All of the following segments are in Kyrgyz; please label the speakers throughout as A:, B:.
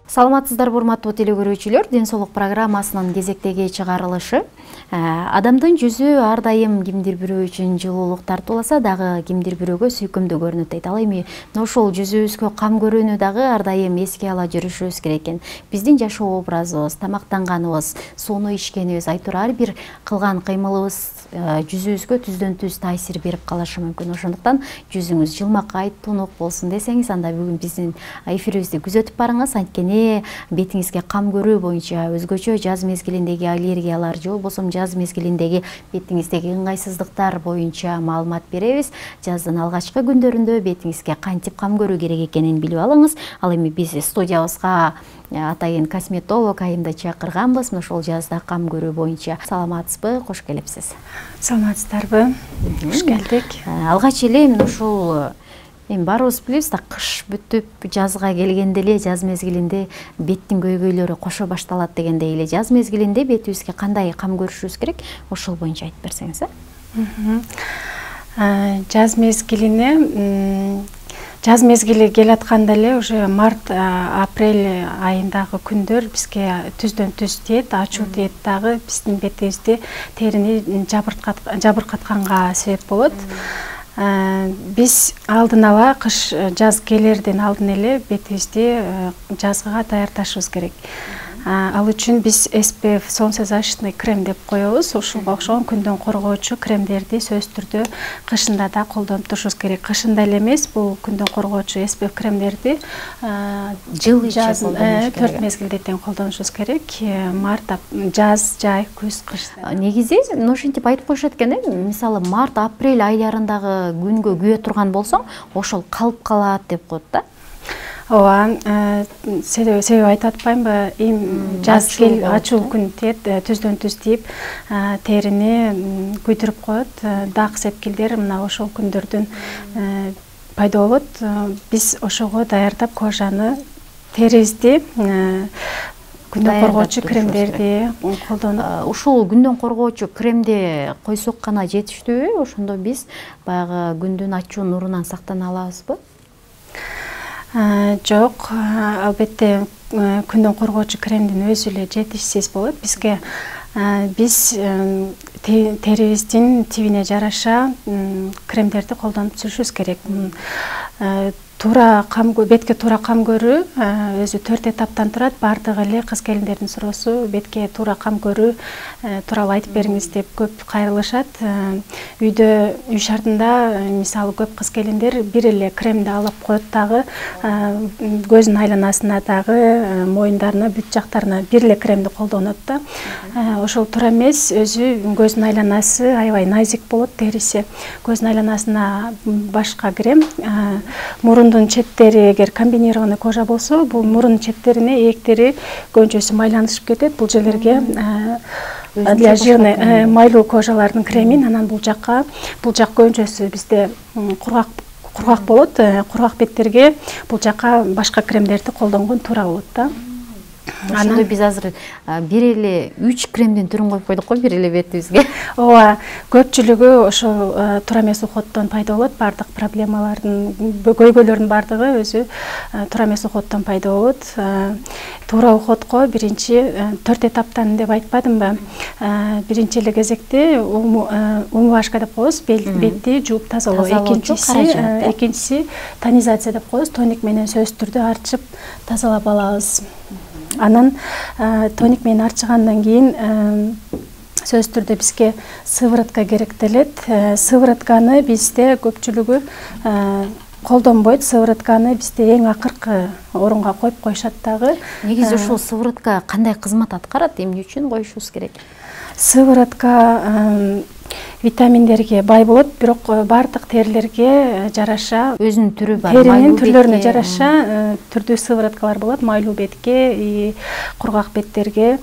A: Саламатсыздарбы урматтуу теле көрүүчүлөр, Ден соолук программасынын кезектеги чыгарылышы. Адамдын жүзү ар дайым кимдир бирөө үчүн жылуулук тартууласа дагы кимдир бирөөгө сүйкүмдүү көрүнөт дейт. Ал эми ошол жүзүбүзгө кам көрүүнү дагы ар дайым эске ала жүрүшүбүз керек экен. Биздин жашоо образыбыз, тамактанганыбыз, сууну ичкенибиз, айтор ар бир кылган кыймылыбыз жүзүбүзгө түздөн түз таасир берип калышы мүмкүн. Ошондуктан жүзүңүз жылмакай, тунук болсун десеңиз, анда бүгүн биздин эфирибизди күзөтүп барыңыз. Анткени бетиңизге кам көрүү боюнча өзгөчө жаз мезгилиндеги аллергиялар же болбосо жаз мезгилиндеги бетиңиздеги ыңгайсыздыктар боюнча маалымат беребиз. Жаздын алгачкы күндөрүндө бетиңизге кантип кам көрүү керек экенин билип алыңыз. Ал эми биз студиябызга атайын косметолог Айымды чакырганбыз. Ошол жазда кам көрүү боюнча. Саламатсызбы? Кош келипсиз.
B: Саламатсыздарбы? Кош келдик.
A: Алгач эле ушул эми баарыбыз билебиз да, кыш бүтүп жазга келгенде эле, жаз мезгилинде беттин көйгөйлөрү кошо башталат дегендей эле, жаз мезгилинде бетибизге кандай кам көрүшүбүз керек, ошол боюнча айтып берсеңиз.
B: Жаз мезгили келатканда эле уже март, апрель айындагы күндөр бизге түздөн түз тиет, ачуу тиет дагы биздин бетибизди, терини жабыркатканга себеп болот. Биз алдын ала кыш жаз келерден алдын эле бетибизди жазга даярдашыбыз керек. Ал үчүн биз SPF солнцезащитный крем деп коебуз. Ушуга окшогон күндөн коргоочу кремдерди сөзсүз түрдө кышында да колдонуп турушубуз керек. Кышында эле эмес, бул күндөн коргоочу SPF кремдерди
A: жыл ичи
B: 4 мезгилде тең колдонушубуз керек. Март, жаз, жай, күз, кыш.
A: Негизи ошентип айтып коюшат экен, мисалы март, апрель айларындагы күнгө күйө турган болсоң, ошол калып калат деп коет да.
B: Ооба, себеби айтып атпаймынбы? Жаз кел ачуу күн тиет, түздөн түз тийип, терини күйдүрүп коет. Дак сепкилдер мына ошол күндөрдөн пайда болот. Биз ошого даярдап кожаны, терибизди күндөн коргоочу кремдерди колдонуп.
A: Ушул күндөн коргоочу кремди койсок гана жетиштүүбү? Ошондо биз баягы күндүн ачуу нурунан сактана алабызбы?
B: Жок, албетте күндөн коргоочу кремдин өзү эле жетишсиз болот. Бизге биз терибиздин тибине жараша кремдерди колдонуп жүрүшүбүз керек. Бетке туура кам көрүү өзү 4 этаптан турат. Бардыгы эле кыз келиндердин суроосу, бетке туура кам көрүү тууралуу айтып бериңиз деп көп кайрылышат. Үй шартында мисалы көп кыз келиндер бир эле кремди алып коет дагы, көзүнүн айланасына дагы, моюндарына, бүт жактарына бир эле кремди колдонот да. Ошол туура эмес. Өзү көзүнүн айланасы аябай назик болот, териси. Көзүнүн айланасына башка крем, мурундун четтери эгер комбинированный кожа болсо, бул мурун четтерине ээктери көөнчөсү майланышып кетет. Бул жерлерге для жирный майлуу кожалардын кремин, анан бул жак көөнчөсү бизде кургак болот. Кургак беттерге бул жакка башка кремдерди колдонгон туура болот да.
A: Ошондо биз азыр бир эле 3 кремдин түрүн коюп койдук го бир эле бетибизге.
B: Ооба, көпчүлүгү ошол туура эмес уходдон пайда болот. Бардык проблемалардын, көйгөйлөрдүн бардыгы өзү туура эмес уходдон пайда болот. Туура уходко биринчи 4 этаптан деп айтпадымбы? Биринчи эле кезекте умывашка деп коебуз, бетти жууп тазалоо. Экинчиси тонизация деп коебуз. Тоник менен сөзсүз түрдө арчып тазалап алабыз. Анан тоник менен арчыгандан кийин сөзсүз түрдө бизге сыворотка керектелет. Сыворотканы бизде көпчүлүгү колдонбойт. Сыворотканы бизде эң акыркы орунга коюп коюшат дагы.
A: Негизи ушул сыворотка кандай кызмат аткарат? Эмне үчүн коюшубуз керек?
B: Сыворотка витаминдерге бай болот, бирок бардык терилерге жараша
A: өзүнүн түрү бар.
B: Теринин түрлөрүнө жараша түрдүү сывороткалар болот. Майлуу бетке, кургак беттерге.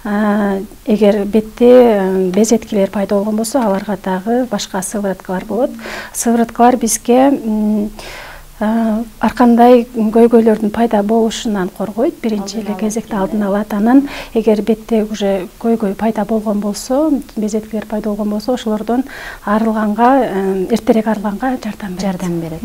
B: Эгер бетте безеткилер пайда болгон болсо, аларга дагы башка сывороткалар болот. Сывороткалар бизге ар кандай көйгөйлөрдүн пайда болушунан коргойт. Биринчи эле кезекте алдын алат. Анан эгер бетте уже көйгөй пайда болгон болсо, безеткилер пайда болгон болсо, ошолордон арылганга, эртерээк арылганга жардам берет.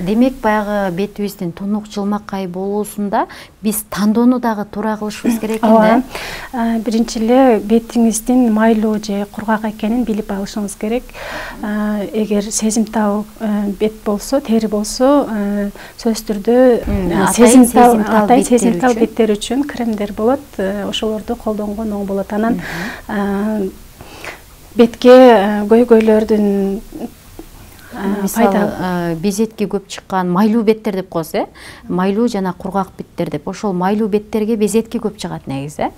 A: Демек баягы бетибиздин тунук жылмакай болуусунда биз тандоону дагы туура кылышыбыз керек экен да.
B: Биринчи эле бетиңиздин майлуу же кургак экенин билип алышыңыз керек. Эгер сезимтал бет болсо, тери болсо, сөзсүз түрдө сезимтал беттер үчүн кремдер болот. Ошолорду колдонгон оң болот. Анан бетке көйгөйлөрдүн
A: мисалы безетки көп чыккан майлуу беттер деп коебуз, майлуу жана кургак беттер деп. Ошол майлуу беттерге безетки көп чыгат негизи.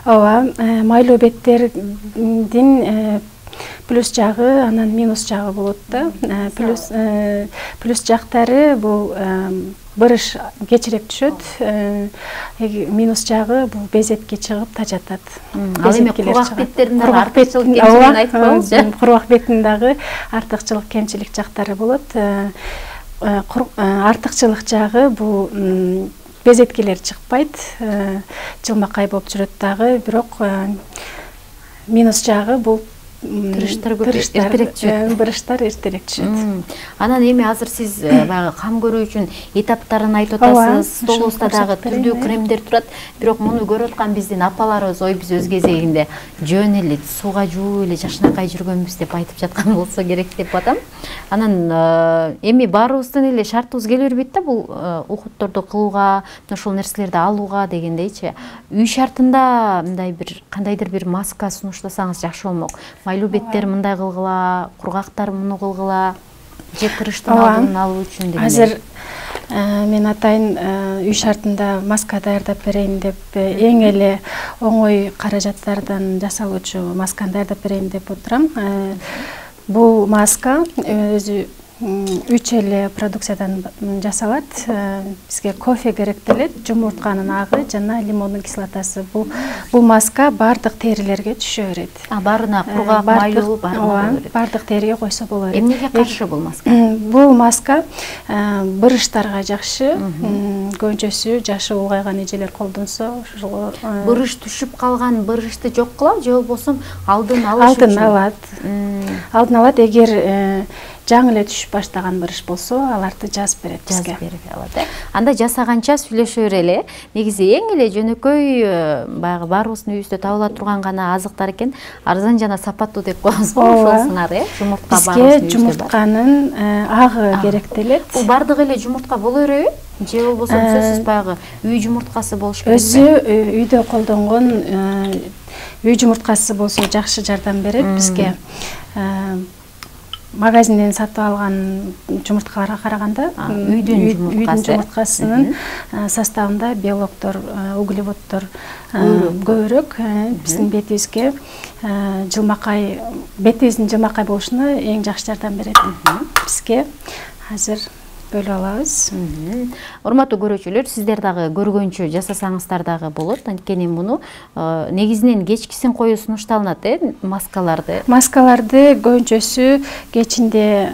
B: Ооба, майлуу беттердин плюс жагы, анан минус жагы болот да. Плюс жактары бул бырыш кечирээк түшөт. Минус жагы бул безетке чыгып тажатат.
A: Ал эми кургак беттердин артыкчылык кемчилигин айтып коебузчу.
B: Кургак беттин дагы артыкчылык кемчилик жактары болот. Артыкчылык жагы бул безеткилер чыкпайт, жылмакай болуп жүрөт дагы, бирок минус жагы бул бырыштар эртерээк түшөт.
A: Анан эми азыр сиз баягы кам көрүү үчүн этаптарын айтып атасыз. Столубузда дагы түрдүү кремдер турат. Бирок муну көрүп аткан биздин апаларыбыз, ой биз өз кезегинде жөн эле сууга жууп эле жашынакай жүргөнбүз деп айтып жаткан болсо керек деп атам. Анан эми баарыбыздын эле шартыбыз келе бербейт да бул ухутторду кылууга, ошол нерселерди алууга дегендейчи. Үй шартында мындай бир кандайдыр бир маска сунуштасаңыз жакшы болмок. Майлуу беттер мындай кылгыла, кургактар муну кылгыла, же кырыштын алдын алуу үчүн деген.
B: Азыр мен атайын үй шартында маска даярдап берейин деп, эң эле оңой каражаттардан жасалуучу масканы даярдап берейин деп отурам. Бул маска өзү 3 эле продукциядан жасалат. Бизге кофе керектелет, жумуртканын агы жана лимондун кислотасы. Бул маска бардык терилерге түшө берет.
A: Баарына кургак, майлуу
B: бардык териге койсо болот.
A: Эмнеге каршы бул маска?
B: Бул маска бырыштарга жакшы. Көбүнчөсү жашы улгайган эжелер колдонсо, ошого
A: бырыш түшүп калган бырышты жок кылабы, же болбосо алдын алыш үчүн?
B: Алдын алат. Эгер жаңы эле түшүп баштаган бырыш болсо, аларды жазып берет бизге.
A: Жазып берип алат. Анда жасаганча сүйлөшө берели. Негизи эң эле жөнөкөй баягы баарыбыздын үйүбүздө табыла турган гана азыктар экен. Арзан жана сапаттуу деп коебуз го, ошолсуңар, жумуртка баарыбыздын үйүбүздө. Бизге жумуртканын агы керектелет. Бул бардык эле жумуртка боло береби? Же болбосо сөзсүз баягы үй жумурткасы болуш керек?
B: Өзү үйдө колдонгон үй жумурткасы болсо жакшы жардам берет бизге. Магазинден сатып алган жумурткаларга караганда
A: үйдүн
B: жумурткасынын составында белоктор, углеводдор көбүрөөк биздин бетибизге жылмакай, бетибиздин жылмакай болушуна эң жакшы жардам берет. Бизге азыр бөлүп алабыз.
A: Урматтуу көрүүчүлөр, сиздер дагы көргөнчө жасасаңыздар дагы болот. Анткени муну негизинен кечкисин коюу сунушталынат, маскаларды.
B: Маскаларды көбүнчөсү кечинде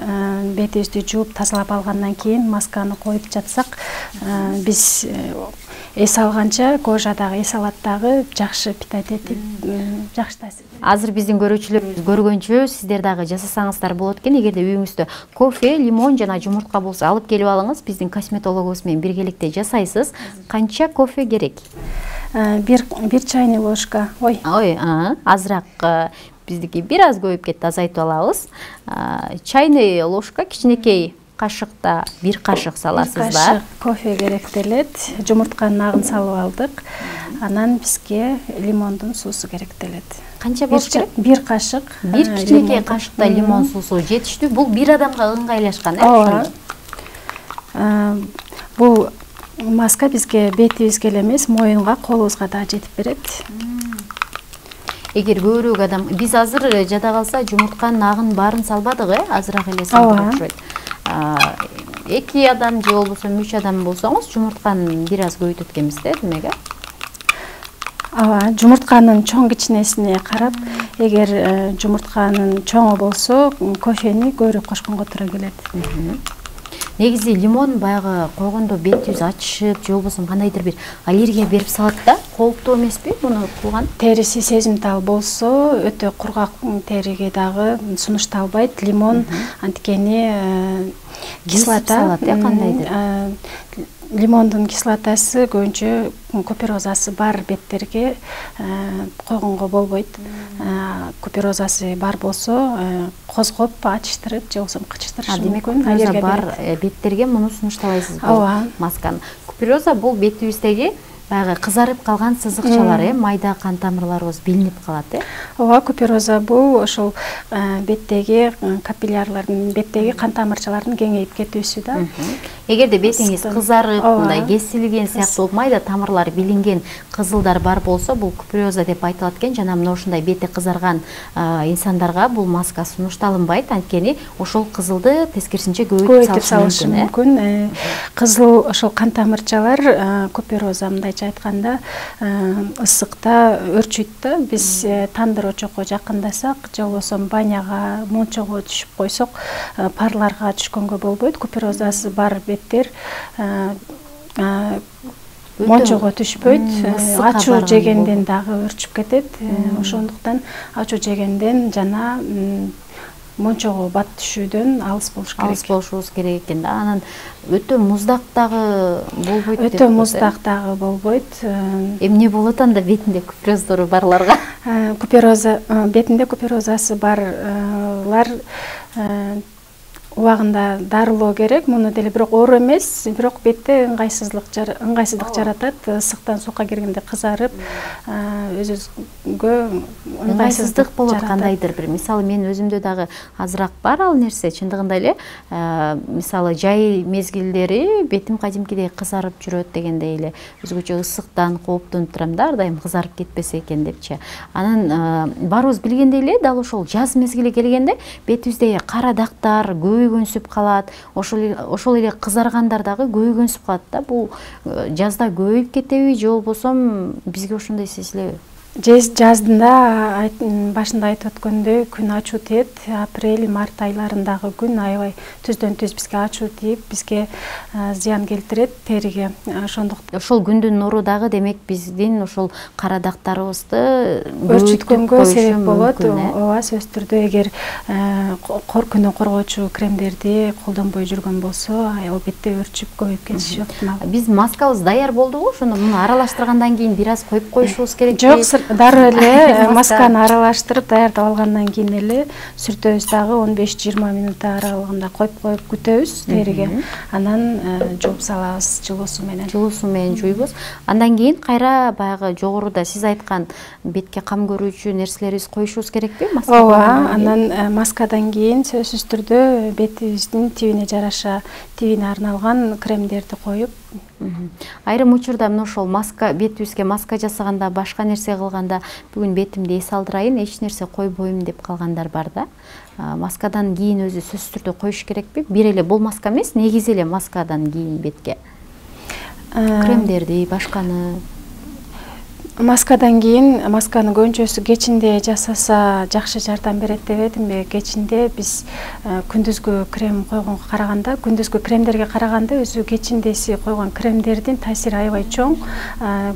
B: бетибизди жууп тазалап алгандан кийин масканы коюп жатсак, биз эс алганча кожадагы, эс алат дагы жакшы питать этип, жакшы таасир.
A: Азыр биздин көрүүчүлөрүбүз көргөнчө сиздер дагы жасасаңыздар болот экен. Эгерде үйүңүздө кофе, лимон жана жумуртка болсо алып келип алыңыз. Биздин косметологубуз менен биргеликте жасайсыз. Канча кофе керек?
B: Бир чайный ложка.
A: Азыраак биздики бир аз көбөйүп кетти, азайтып алабыз. Чайный ложка кичинекей кашыкта бир кашык саласыздар.
B: Кашык кофе керектелет. Жумуртканын агын салып алдык. Анан бизге лимондун суусу керектелет.
A: Канча болуш керек?
B: Бир кашык.
A: Бир кичинекей кашыкта лимон суусу жетиштүү. Бул бир адамга ыңгайлашкан,
B: Бул маска бизге бетибизге эле эмес, моюнга, колубузга да жетип берет.
A: Эгер көбүрөөк адам, биз азыр жада калса жумуртканын агын баарын салбадык, азыраак эле салдык окшойт. 2 адам же болбосо 3 адам болсоңуз жумуртканы бир аз көбөйтөт экенбиз да, демек.
B: Жумуртканын чоң кичинесине карап, эгер жумуртканын чоңу болсо, кофени көбүрөөк кошконго туура келет.
A: Негизи лимон баягы койгондо бет жүз ачышып, же болбосо кандайдыр бир аллергия берип салат да, кооптуу эмеспи муну кылган?
B: Териси сезимтал болсо, өтө кургак териге дагы сунушталбайт. Лимон анткени кислота,
A: кандайдыр?
B: Лимондун кислотасы көбүнчө куперозасы бар беттерге койгонго болбойт. Куперозасы бар болсо козгоп, ачыштырып, же болбосо кычыштырышы мүмкүн.
A: Купероза бар беттерге муну сунуштабайсыз
B: Ооба.
A: масканы. Купероза бул бетибиздеги баягы кызарып калган сызыкчалар, майда кан тамырларыбыз билинип калат,
B: Ооба, купероза бул ошол беттеги капиллярлардын, беттеги кан тамырчалардын кеңейип кетүүсү да.
A: Эгерде бетиңиз кызарып, мындай кесилген сыяктуу майда тамырлары билинген кызылдар бар болсо, бул купероза деп айтылат экен. Жана мына ушундай бети кызарган инсандарга бул маска сунушталынбайт, анткени ошол кызылды тескерисинче көбөйтүп салышы
B: мүмкүн. Кызыл ошол кан тамырчалар купероза мындайча айтканда ысыкта өрчүйт да. Биз тандыр очокко жакындасак, же болбосо баняга, мончого түшүп койсок, парларга түшкөнгө болбойт. Куперозасы бар беттер мончого түшпөйт, ачуу жегенден дагы өрчүп кетет. Ошондуктан ачуу жегенден жана мончого бат түшүүдөн алыс болуш керек.
A: Алыс болушубуз керек экен да. Анан өтө муздак дагы болбойт деп.
B: Өтө муздак дагы болбойт.
A: Эмне болот анда бетинде купероздору барларга?
B: Купероза, бетинде куперозасы барлар убагында дарылоо керек. Муну деле бирок оор эмес, бирок бетте ыңгайсыздык жаратат. Ысыктан суукка киргенде кызарып, өзүбүзгө
A: ыңгайсыздык болот кандайдыр бир. Мисалы мен өзүмдө дагы азыраак бар ал нерсе. Чындыгында эле, мисалы жай мезгилдери бетим кадимкидей кызарып жүрөт дегендей эле. Өзгөчө ысыктан кооптонуп турам да, ар дайым кызарып кетпесе экен депчи. Анан баарыбыз билгендей эле, дал ошол жаз мезгили келгенде бетибизде кара дактар, көйгөнсүп калат. Ошол эле кызаргандар дагы көйгөнсүп калат да. Бул жазда көбөйүп кетеби, же болбосо бизге ошондой сезилеби?
B: Жаздында башында айтып өткөндөй күн ачуу тиет. Апрель, март айларындагы күн аябай түздөн түз бизге ачуу тийип, бизге зыян келтирет териге. Ошондуктан
A: ошол күндүн нуру дагы демек биздин ошол кара дактарыбызды
B: өрчүткөнгө себеп болот. Ооба, сөзсүз түрдө эгер күнү коргоочу кремдерди колдонбой жүргөн болсо, албетте өрчүп көбөйүп кетиши ыктымал.
A: Биз маскабыз даяр болдубу? Ошондо муну аралаштыргандан кийин бир аз коюп коюшубуз керек.
B: Жок, дароо эле масканы аралаштырып даярдап алгандан кийин эле сүртөбүз дагы 15-20 минут аралыгында коюп күтөбүз териге. Анан жууп салабыз жылуу суу менен.
A: Жылуу суу менен жуйбуз. Андан кийин кайра баягы жогоруда сиз айткан бетке кам көрүүчү нерселерибизди коюшубуз керекпи?
B: Ооба, анан маскадан кийин сөзсүз түрдө бетибиздин тибине жараша, тибине арналган кремдерди коюп.
A: Айрым учурда мына ошол маска, бетибизге маска жасаганда, башка нерсе кылганда, бүгүн бетимди эс алдырайын, эч нерсе койбойм деп калгандар бар да. Маскадан кийин өзү сөзсүз түрдө коюш керекпи? Бир эле бул маска эмес, негизи эле маскадан кийин бетке кремдерди, башканы.
B: Маскадан кийин масканы көбүнчөсү кечинде жасаса жакшы жардам берет деп эдимби. Кечинде биз күндүзгү крем койгонго караганда, күндүзгү кремдерге караганда өзү кечиндеси койгон кремдердин таасири аябай чоң.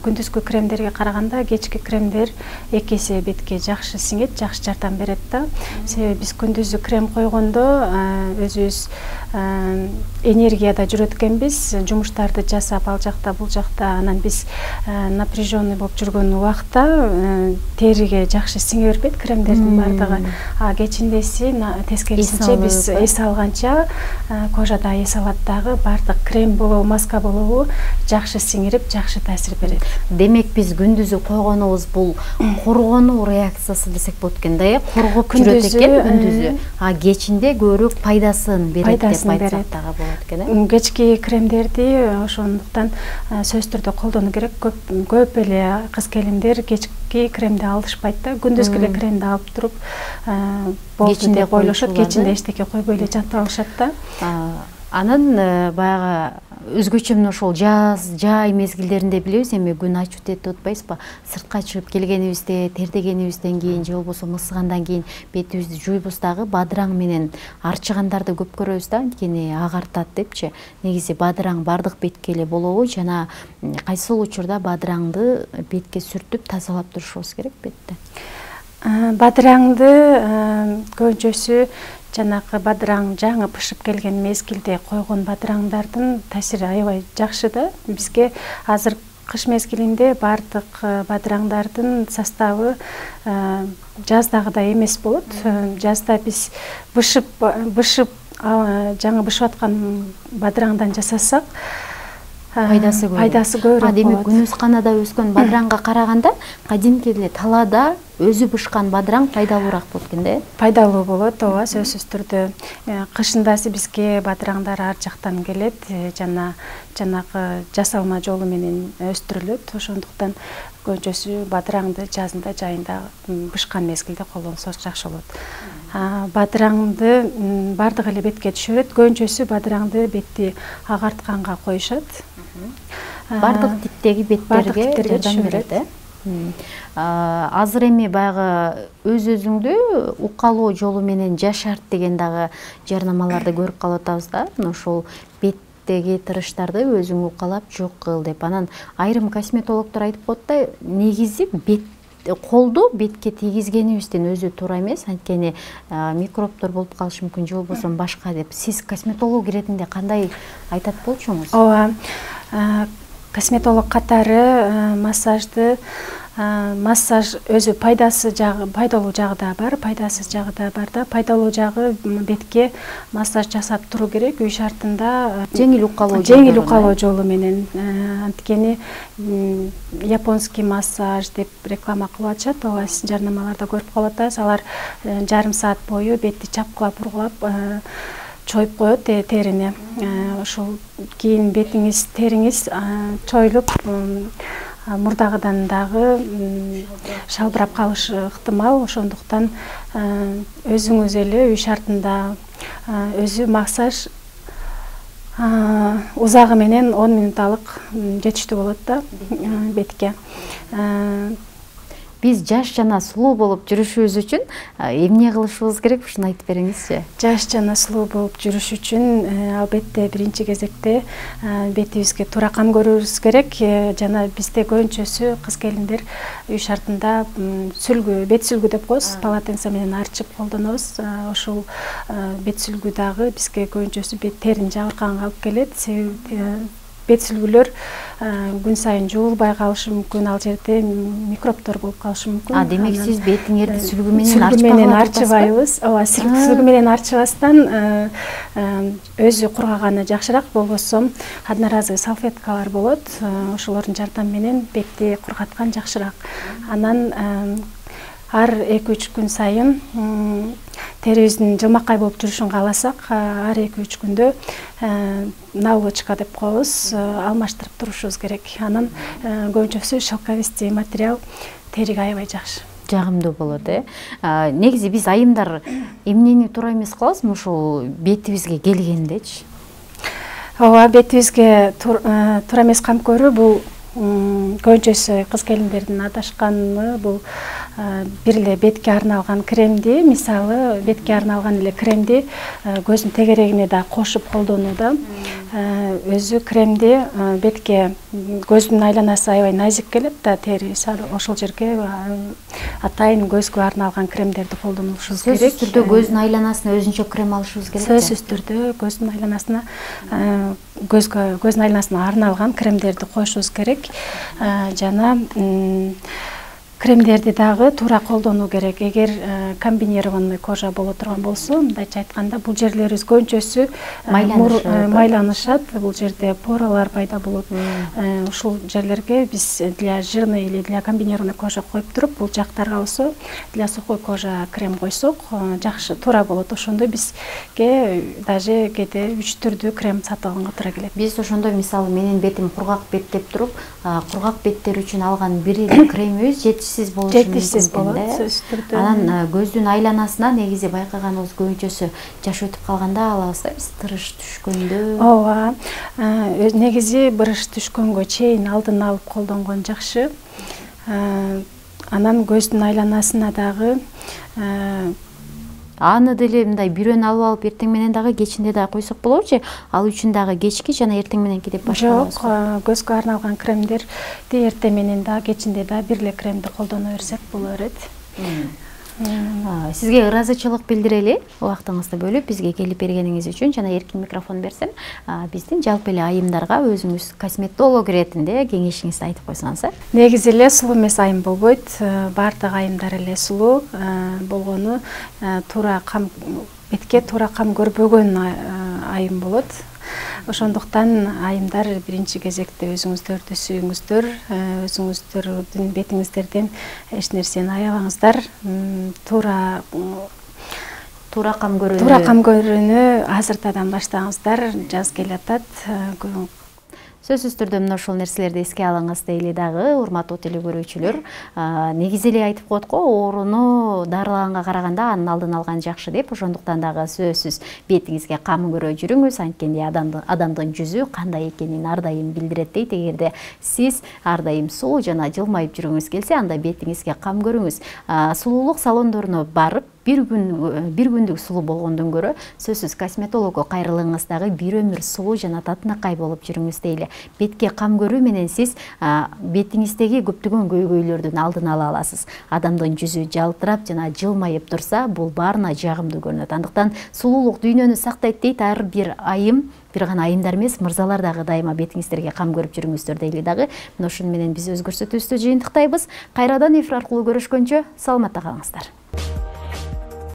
B: Күндүзгү кремдерге караганда кечки кремдер 2 эсе бетке жакшы сиңет, жакшы жардам берет да. Себеби биз күндүзгү крем койгондо өзүбүз энергияда жүрөт экенбиз, жумуштарды жасап ал жакта бул жакта, анан биз напряженный болуп жүргөн убакта териге жакшы сиңе бербейт кремдердин бардыгы. Кечиндеси тескерисинче биз эс алганча кожада эс алат дагы, бардык крем болобу, маска болобу жакшы сиңирип, жакшы таасир берет.
A: Демек биз күндүзү койгонубуз бул коргонуу реакциясы десек болот экен да, коргоп жүрөт экен күндүзү. Кечинде көбүрөөк пайдасын берет деп айтсак дагы болот экен.
B: Кечки кремдерди ошондуктан сөзсүз түрдө колдонуу керек. Көп эле кыз-келиндер кечки кремди алышпайт да. Күндүзгү эле кремди алып туруп болду деп ойлошот, кечинде эчтеке койбой эле жатып алышат да.
A: Анан баягы өзгөчө мына ошол жаз, жай мезгилдеринде билебиз, эми күн ачып кетип атпайбызбы? Сыртка чыгып келгенибизде, тердегенибизден кийин же болбосо мысыгандан кийин бетибизди жуйбуз дагы бадыраң менен арчыгандарды көп көрөбүз да, анткени агартат депчи. Негизи бадыраң бардык бетке эле болобу жана кайсыл учурда бадыраңды бетке сүртүп тазалап турушубуз керек бетти?
B: Бадыраңды көбүнчөсү жанакы бадыраң жаңы пышып келген мезгилде койгон бадыраңдардын таасири аябай жакшы да. Бизге азыр кыш мезгилинде бардык бадыраңдардын составы жаздагыдай эмес болот. Жазда биз бышып жаңы бышып аткан бадыраңдан жасасак пайдасы көбүрөөк болот.
A: Демек күнүсканада өскөн бадыраңга караганда кадимки эле талаада өзү бышкан бадыраң пайдалуураак болот экен да?
B: Пайдалуу болот, ооба, сөзсүз түрдө. Кышындасы бизге бадыраңдар ар жактан келет, жана жанагы жасалма жолу менен өстүрүлөт. Ошондуктан көбүнчөсү бадыраңды жазында, жайында бышкан мезгилде колдонсок жакшы болот. Бадыраңды бардык эле бетке түшүрөт. Көбүнчөсү бадыраңды бетти агартканга коюшат.
A: Бардык типтеги беттерге жардам берет, Азыр эми баягы өзүңдү укалоо жолу менен жашарт деген дагы жарнамаларды көрүп калып атабыз да. Ошол беттеги тырыштарды өзүң укалап жок кыл деп. Анан айрым косметологдор айтып коет да, негизи колду бетке тийгизгенибизден өзү туура эмес, анткени микробдор болуп калышы мүмкүн, же болбосо башка деп. Сиз косметолог иретинде кандай айтат болчуңуз?
B: Ооба, косметолог катары массаж өзү пайдалуу жагы да бар, пайдасыз жагы да бар да. Пайдалуу жагы бетке массаж жасап туруу керек үй шартында,
A: жеңил укалоо
B: жолу менен. Анткени японский массаж деп реклама кылып атышат, ооба, сиз жарнамаларда көрүп калып атасыз. Алар жарым саат бою бетти чапкылап ургулап чоюп коет терини. Ошол кийин бетиңиз, териңиз чоюлуп мурдагыдан дагы шалбырап калышы ыктымал. Ошондуктан өзүңүз эле үй шартында өзү массаж узагы менен 10 минуталык жетиштүү болот да бетке.
A: Биз жаш жана сулуу болуп жүрүшүбүз үчүн эмне кылышыбыз керек, ушуну айтып бериңизчи.
B: Жаш жана сулуу болуп жүрүш үчүн албетте биринчи кезекте бетибизге туура кам көрүүбүз керек. Жана бизде көбүнчөсү кыз келиндер үй шартында бет сүлгү деп коебуз, полотенце менен арчып колдонобуз. Ошол бет сүлгү дагы бизге көбүнчөсү бет терини жабыркаганга алып келет. Себеби бет сүлгүлөр күн сайын жуулбай калышы мүмкүн, ал жерде микробдор болуп калышы мүмкүн.
A: Демек сиз бетиңерди сүлгү менен
B: арчыбайбыз. Ооба, сүлгү менен арчыбастан өзү кургаганы жакшыраак. Болбосо одноразовый салфеткалар болот, ошолордун жардамы менен бетти кургаткан жакшыраак. Анан ар 2-3 күн сайын терибиздин жылмакай болуп жүрүшүн кааласак, ар 2-3 күндө наволочка деп коебуз, алмаштырып турушубуз керек. Анан көбүнчөсү шелковистый материал териге аябай жакшы.
A: Жагымдуу болот, Негизи биз айымдар эмнени туура эмес кылабыз, ушул бетибизге келгендечи?
B: Ооба, бетибизге туура эмес кам көрүү бул көбүнчөсү кыз келиндердин адашканы бул бир эле бетке арналган кремди, мисалы бетке арналган эле кремди көздүн тегерегине да кошуп колдонууда. Өзү кремди бетке көздүн айланасы аябай назик келет да, тери ошол жерге атайын көзгө арналган кремдерди колдонушубуз керек.
A: Сөзсүз түрдө көздүн айланасына өзүнчө крем алышыбыз керек.
B: Сөзсүз түрдө көздүн айланасына көздүн айланасына арналган кремдерди коюшубуз керек. Жана кремдерди дагы туура колдонуу керек. Эгер комбинированный кожа боло турган болсо, мындайча айтканда, бул жерлерибиз көбүнчөсү майланышат. Бул жерде поралар пайда болот. Ушул жерлерге биз для жирный или для комбинированный кожа коюп туруп, бул жактарга болсо для сухой кожа крем койсок жакшы, туура болот. Ошондо бизге даже кээде 3 түрдүү крем сатып алганга туура келет.
A: Биз ошондо мисалы менин бетим кургак бет деп туруп, кургак беттер үчүн алган бир эле кремибиз жетишсиз болушу
B: жетишсиз болот, сөзсүз түрдө.
A: Анан көздүн айланасына негизи байкаганыбыз көбүнчөсү жаш өтүп калганда алабыз, тырыш түшкөндө.
B: Ооба, негизи бырыш түшкөнгө чейин алдын алып колдонгон жакшы. Анан көздүн айланасына дагы
A: аны деле мындай бирөөнү алып эртең менен дагы кечинде дагы койсок болобу же? Ал үчүн дагы кечки жана эртең мененки деп башкалабызбы?
B: Жок, көзгө арналган кремдерди эртең менен дагы кечинде дагы бир эле кремди колдоно берсек боло берет.
A: Сизге ыраазычылык билдирели, убактыңызды бөлүп бизге келип бергениңиз үчүн. Жана эркин микрофон берсем, биздин жалпы эле айымдарга өзүңүз косметолог иретинде кеңешиңизди айтып койсоңуз.
B: Негизи эле сулуу эмес айым болбойт. Баардык айымдар эле сулуу болгону туура кам бетке туура кам көрбөгөн айым болот. Ошондуктан айымдар биринчи кезекте өзүңүздөрдү сүйүңүздөр, өзүңүздөрдүн бетиңиздерден эч нерсени аябаңыздар. Туура кам көрүүнү азыртадан баштаңыздар, жаз келатат.
A: Сөзсүз түрдө мына ушул нерселерди эске алыңыз дейли дагы, урматтуу телекөрүүчүлөр. Негизи эле айтып коет го, ооруну дарылаганга караганда анын алдын алган жакшы деп. Ошондуктан дагы сөзсүз бетиңизге кам көрө жүрүңүз, анткени адамдын жүзү кандай экенин ар дайым билдирет дейт. Эгерде сиз ар дайым сулуу жана жылмайып жүрүңүз келсе, анда бетиңизге кам көрүңүз. Сулуулук салондоруна барып бир күндүк сулуу болгондон көрө сөзсүз косметологго кайрылыңыз дагы бир өмүр сулуу жана татынакай болуп жүрүңүз дейли. Бетке кам көрүү менен сиз бетиңиздеги көптөгөн көйгөйлөрдүн алдын ала аласыз. Адамдын жүзү жалтырап жана жылмайып турса, бул баарына жагымдуу көрүнөт. Андыктан сулуулук дүйнөнү сактайт дейт ар бир айым. Бир гана айымдар эмес, мырзалар дагы дайыма бетиңиздерге кам көрүп жүрүңүздөр дейли дагы. Мына ушуну менен биз өз көрсөтүүбүздү жыйынтыктайбыз. Кайрадан эфир аркылуу көрүшкөнчө саламатта калыңыздар.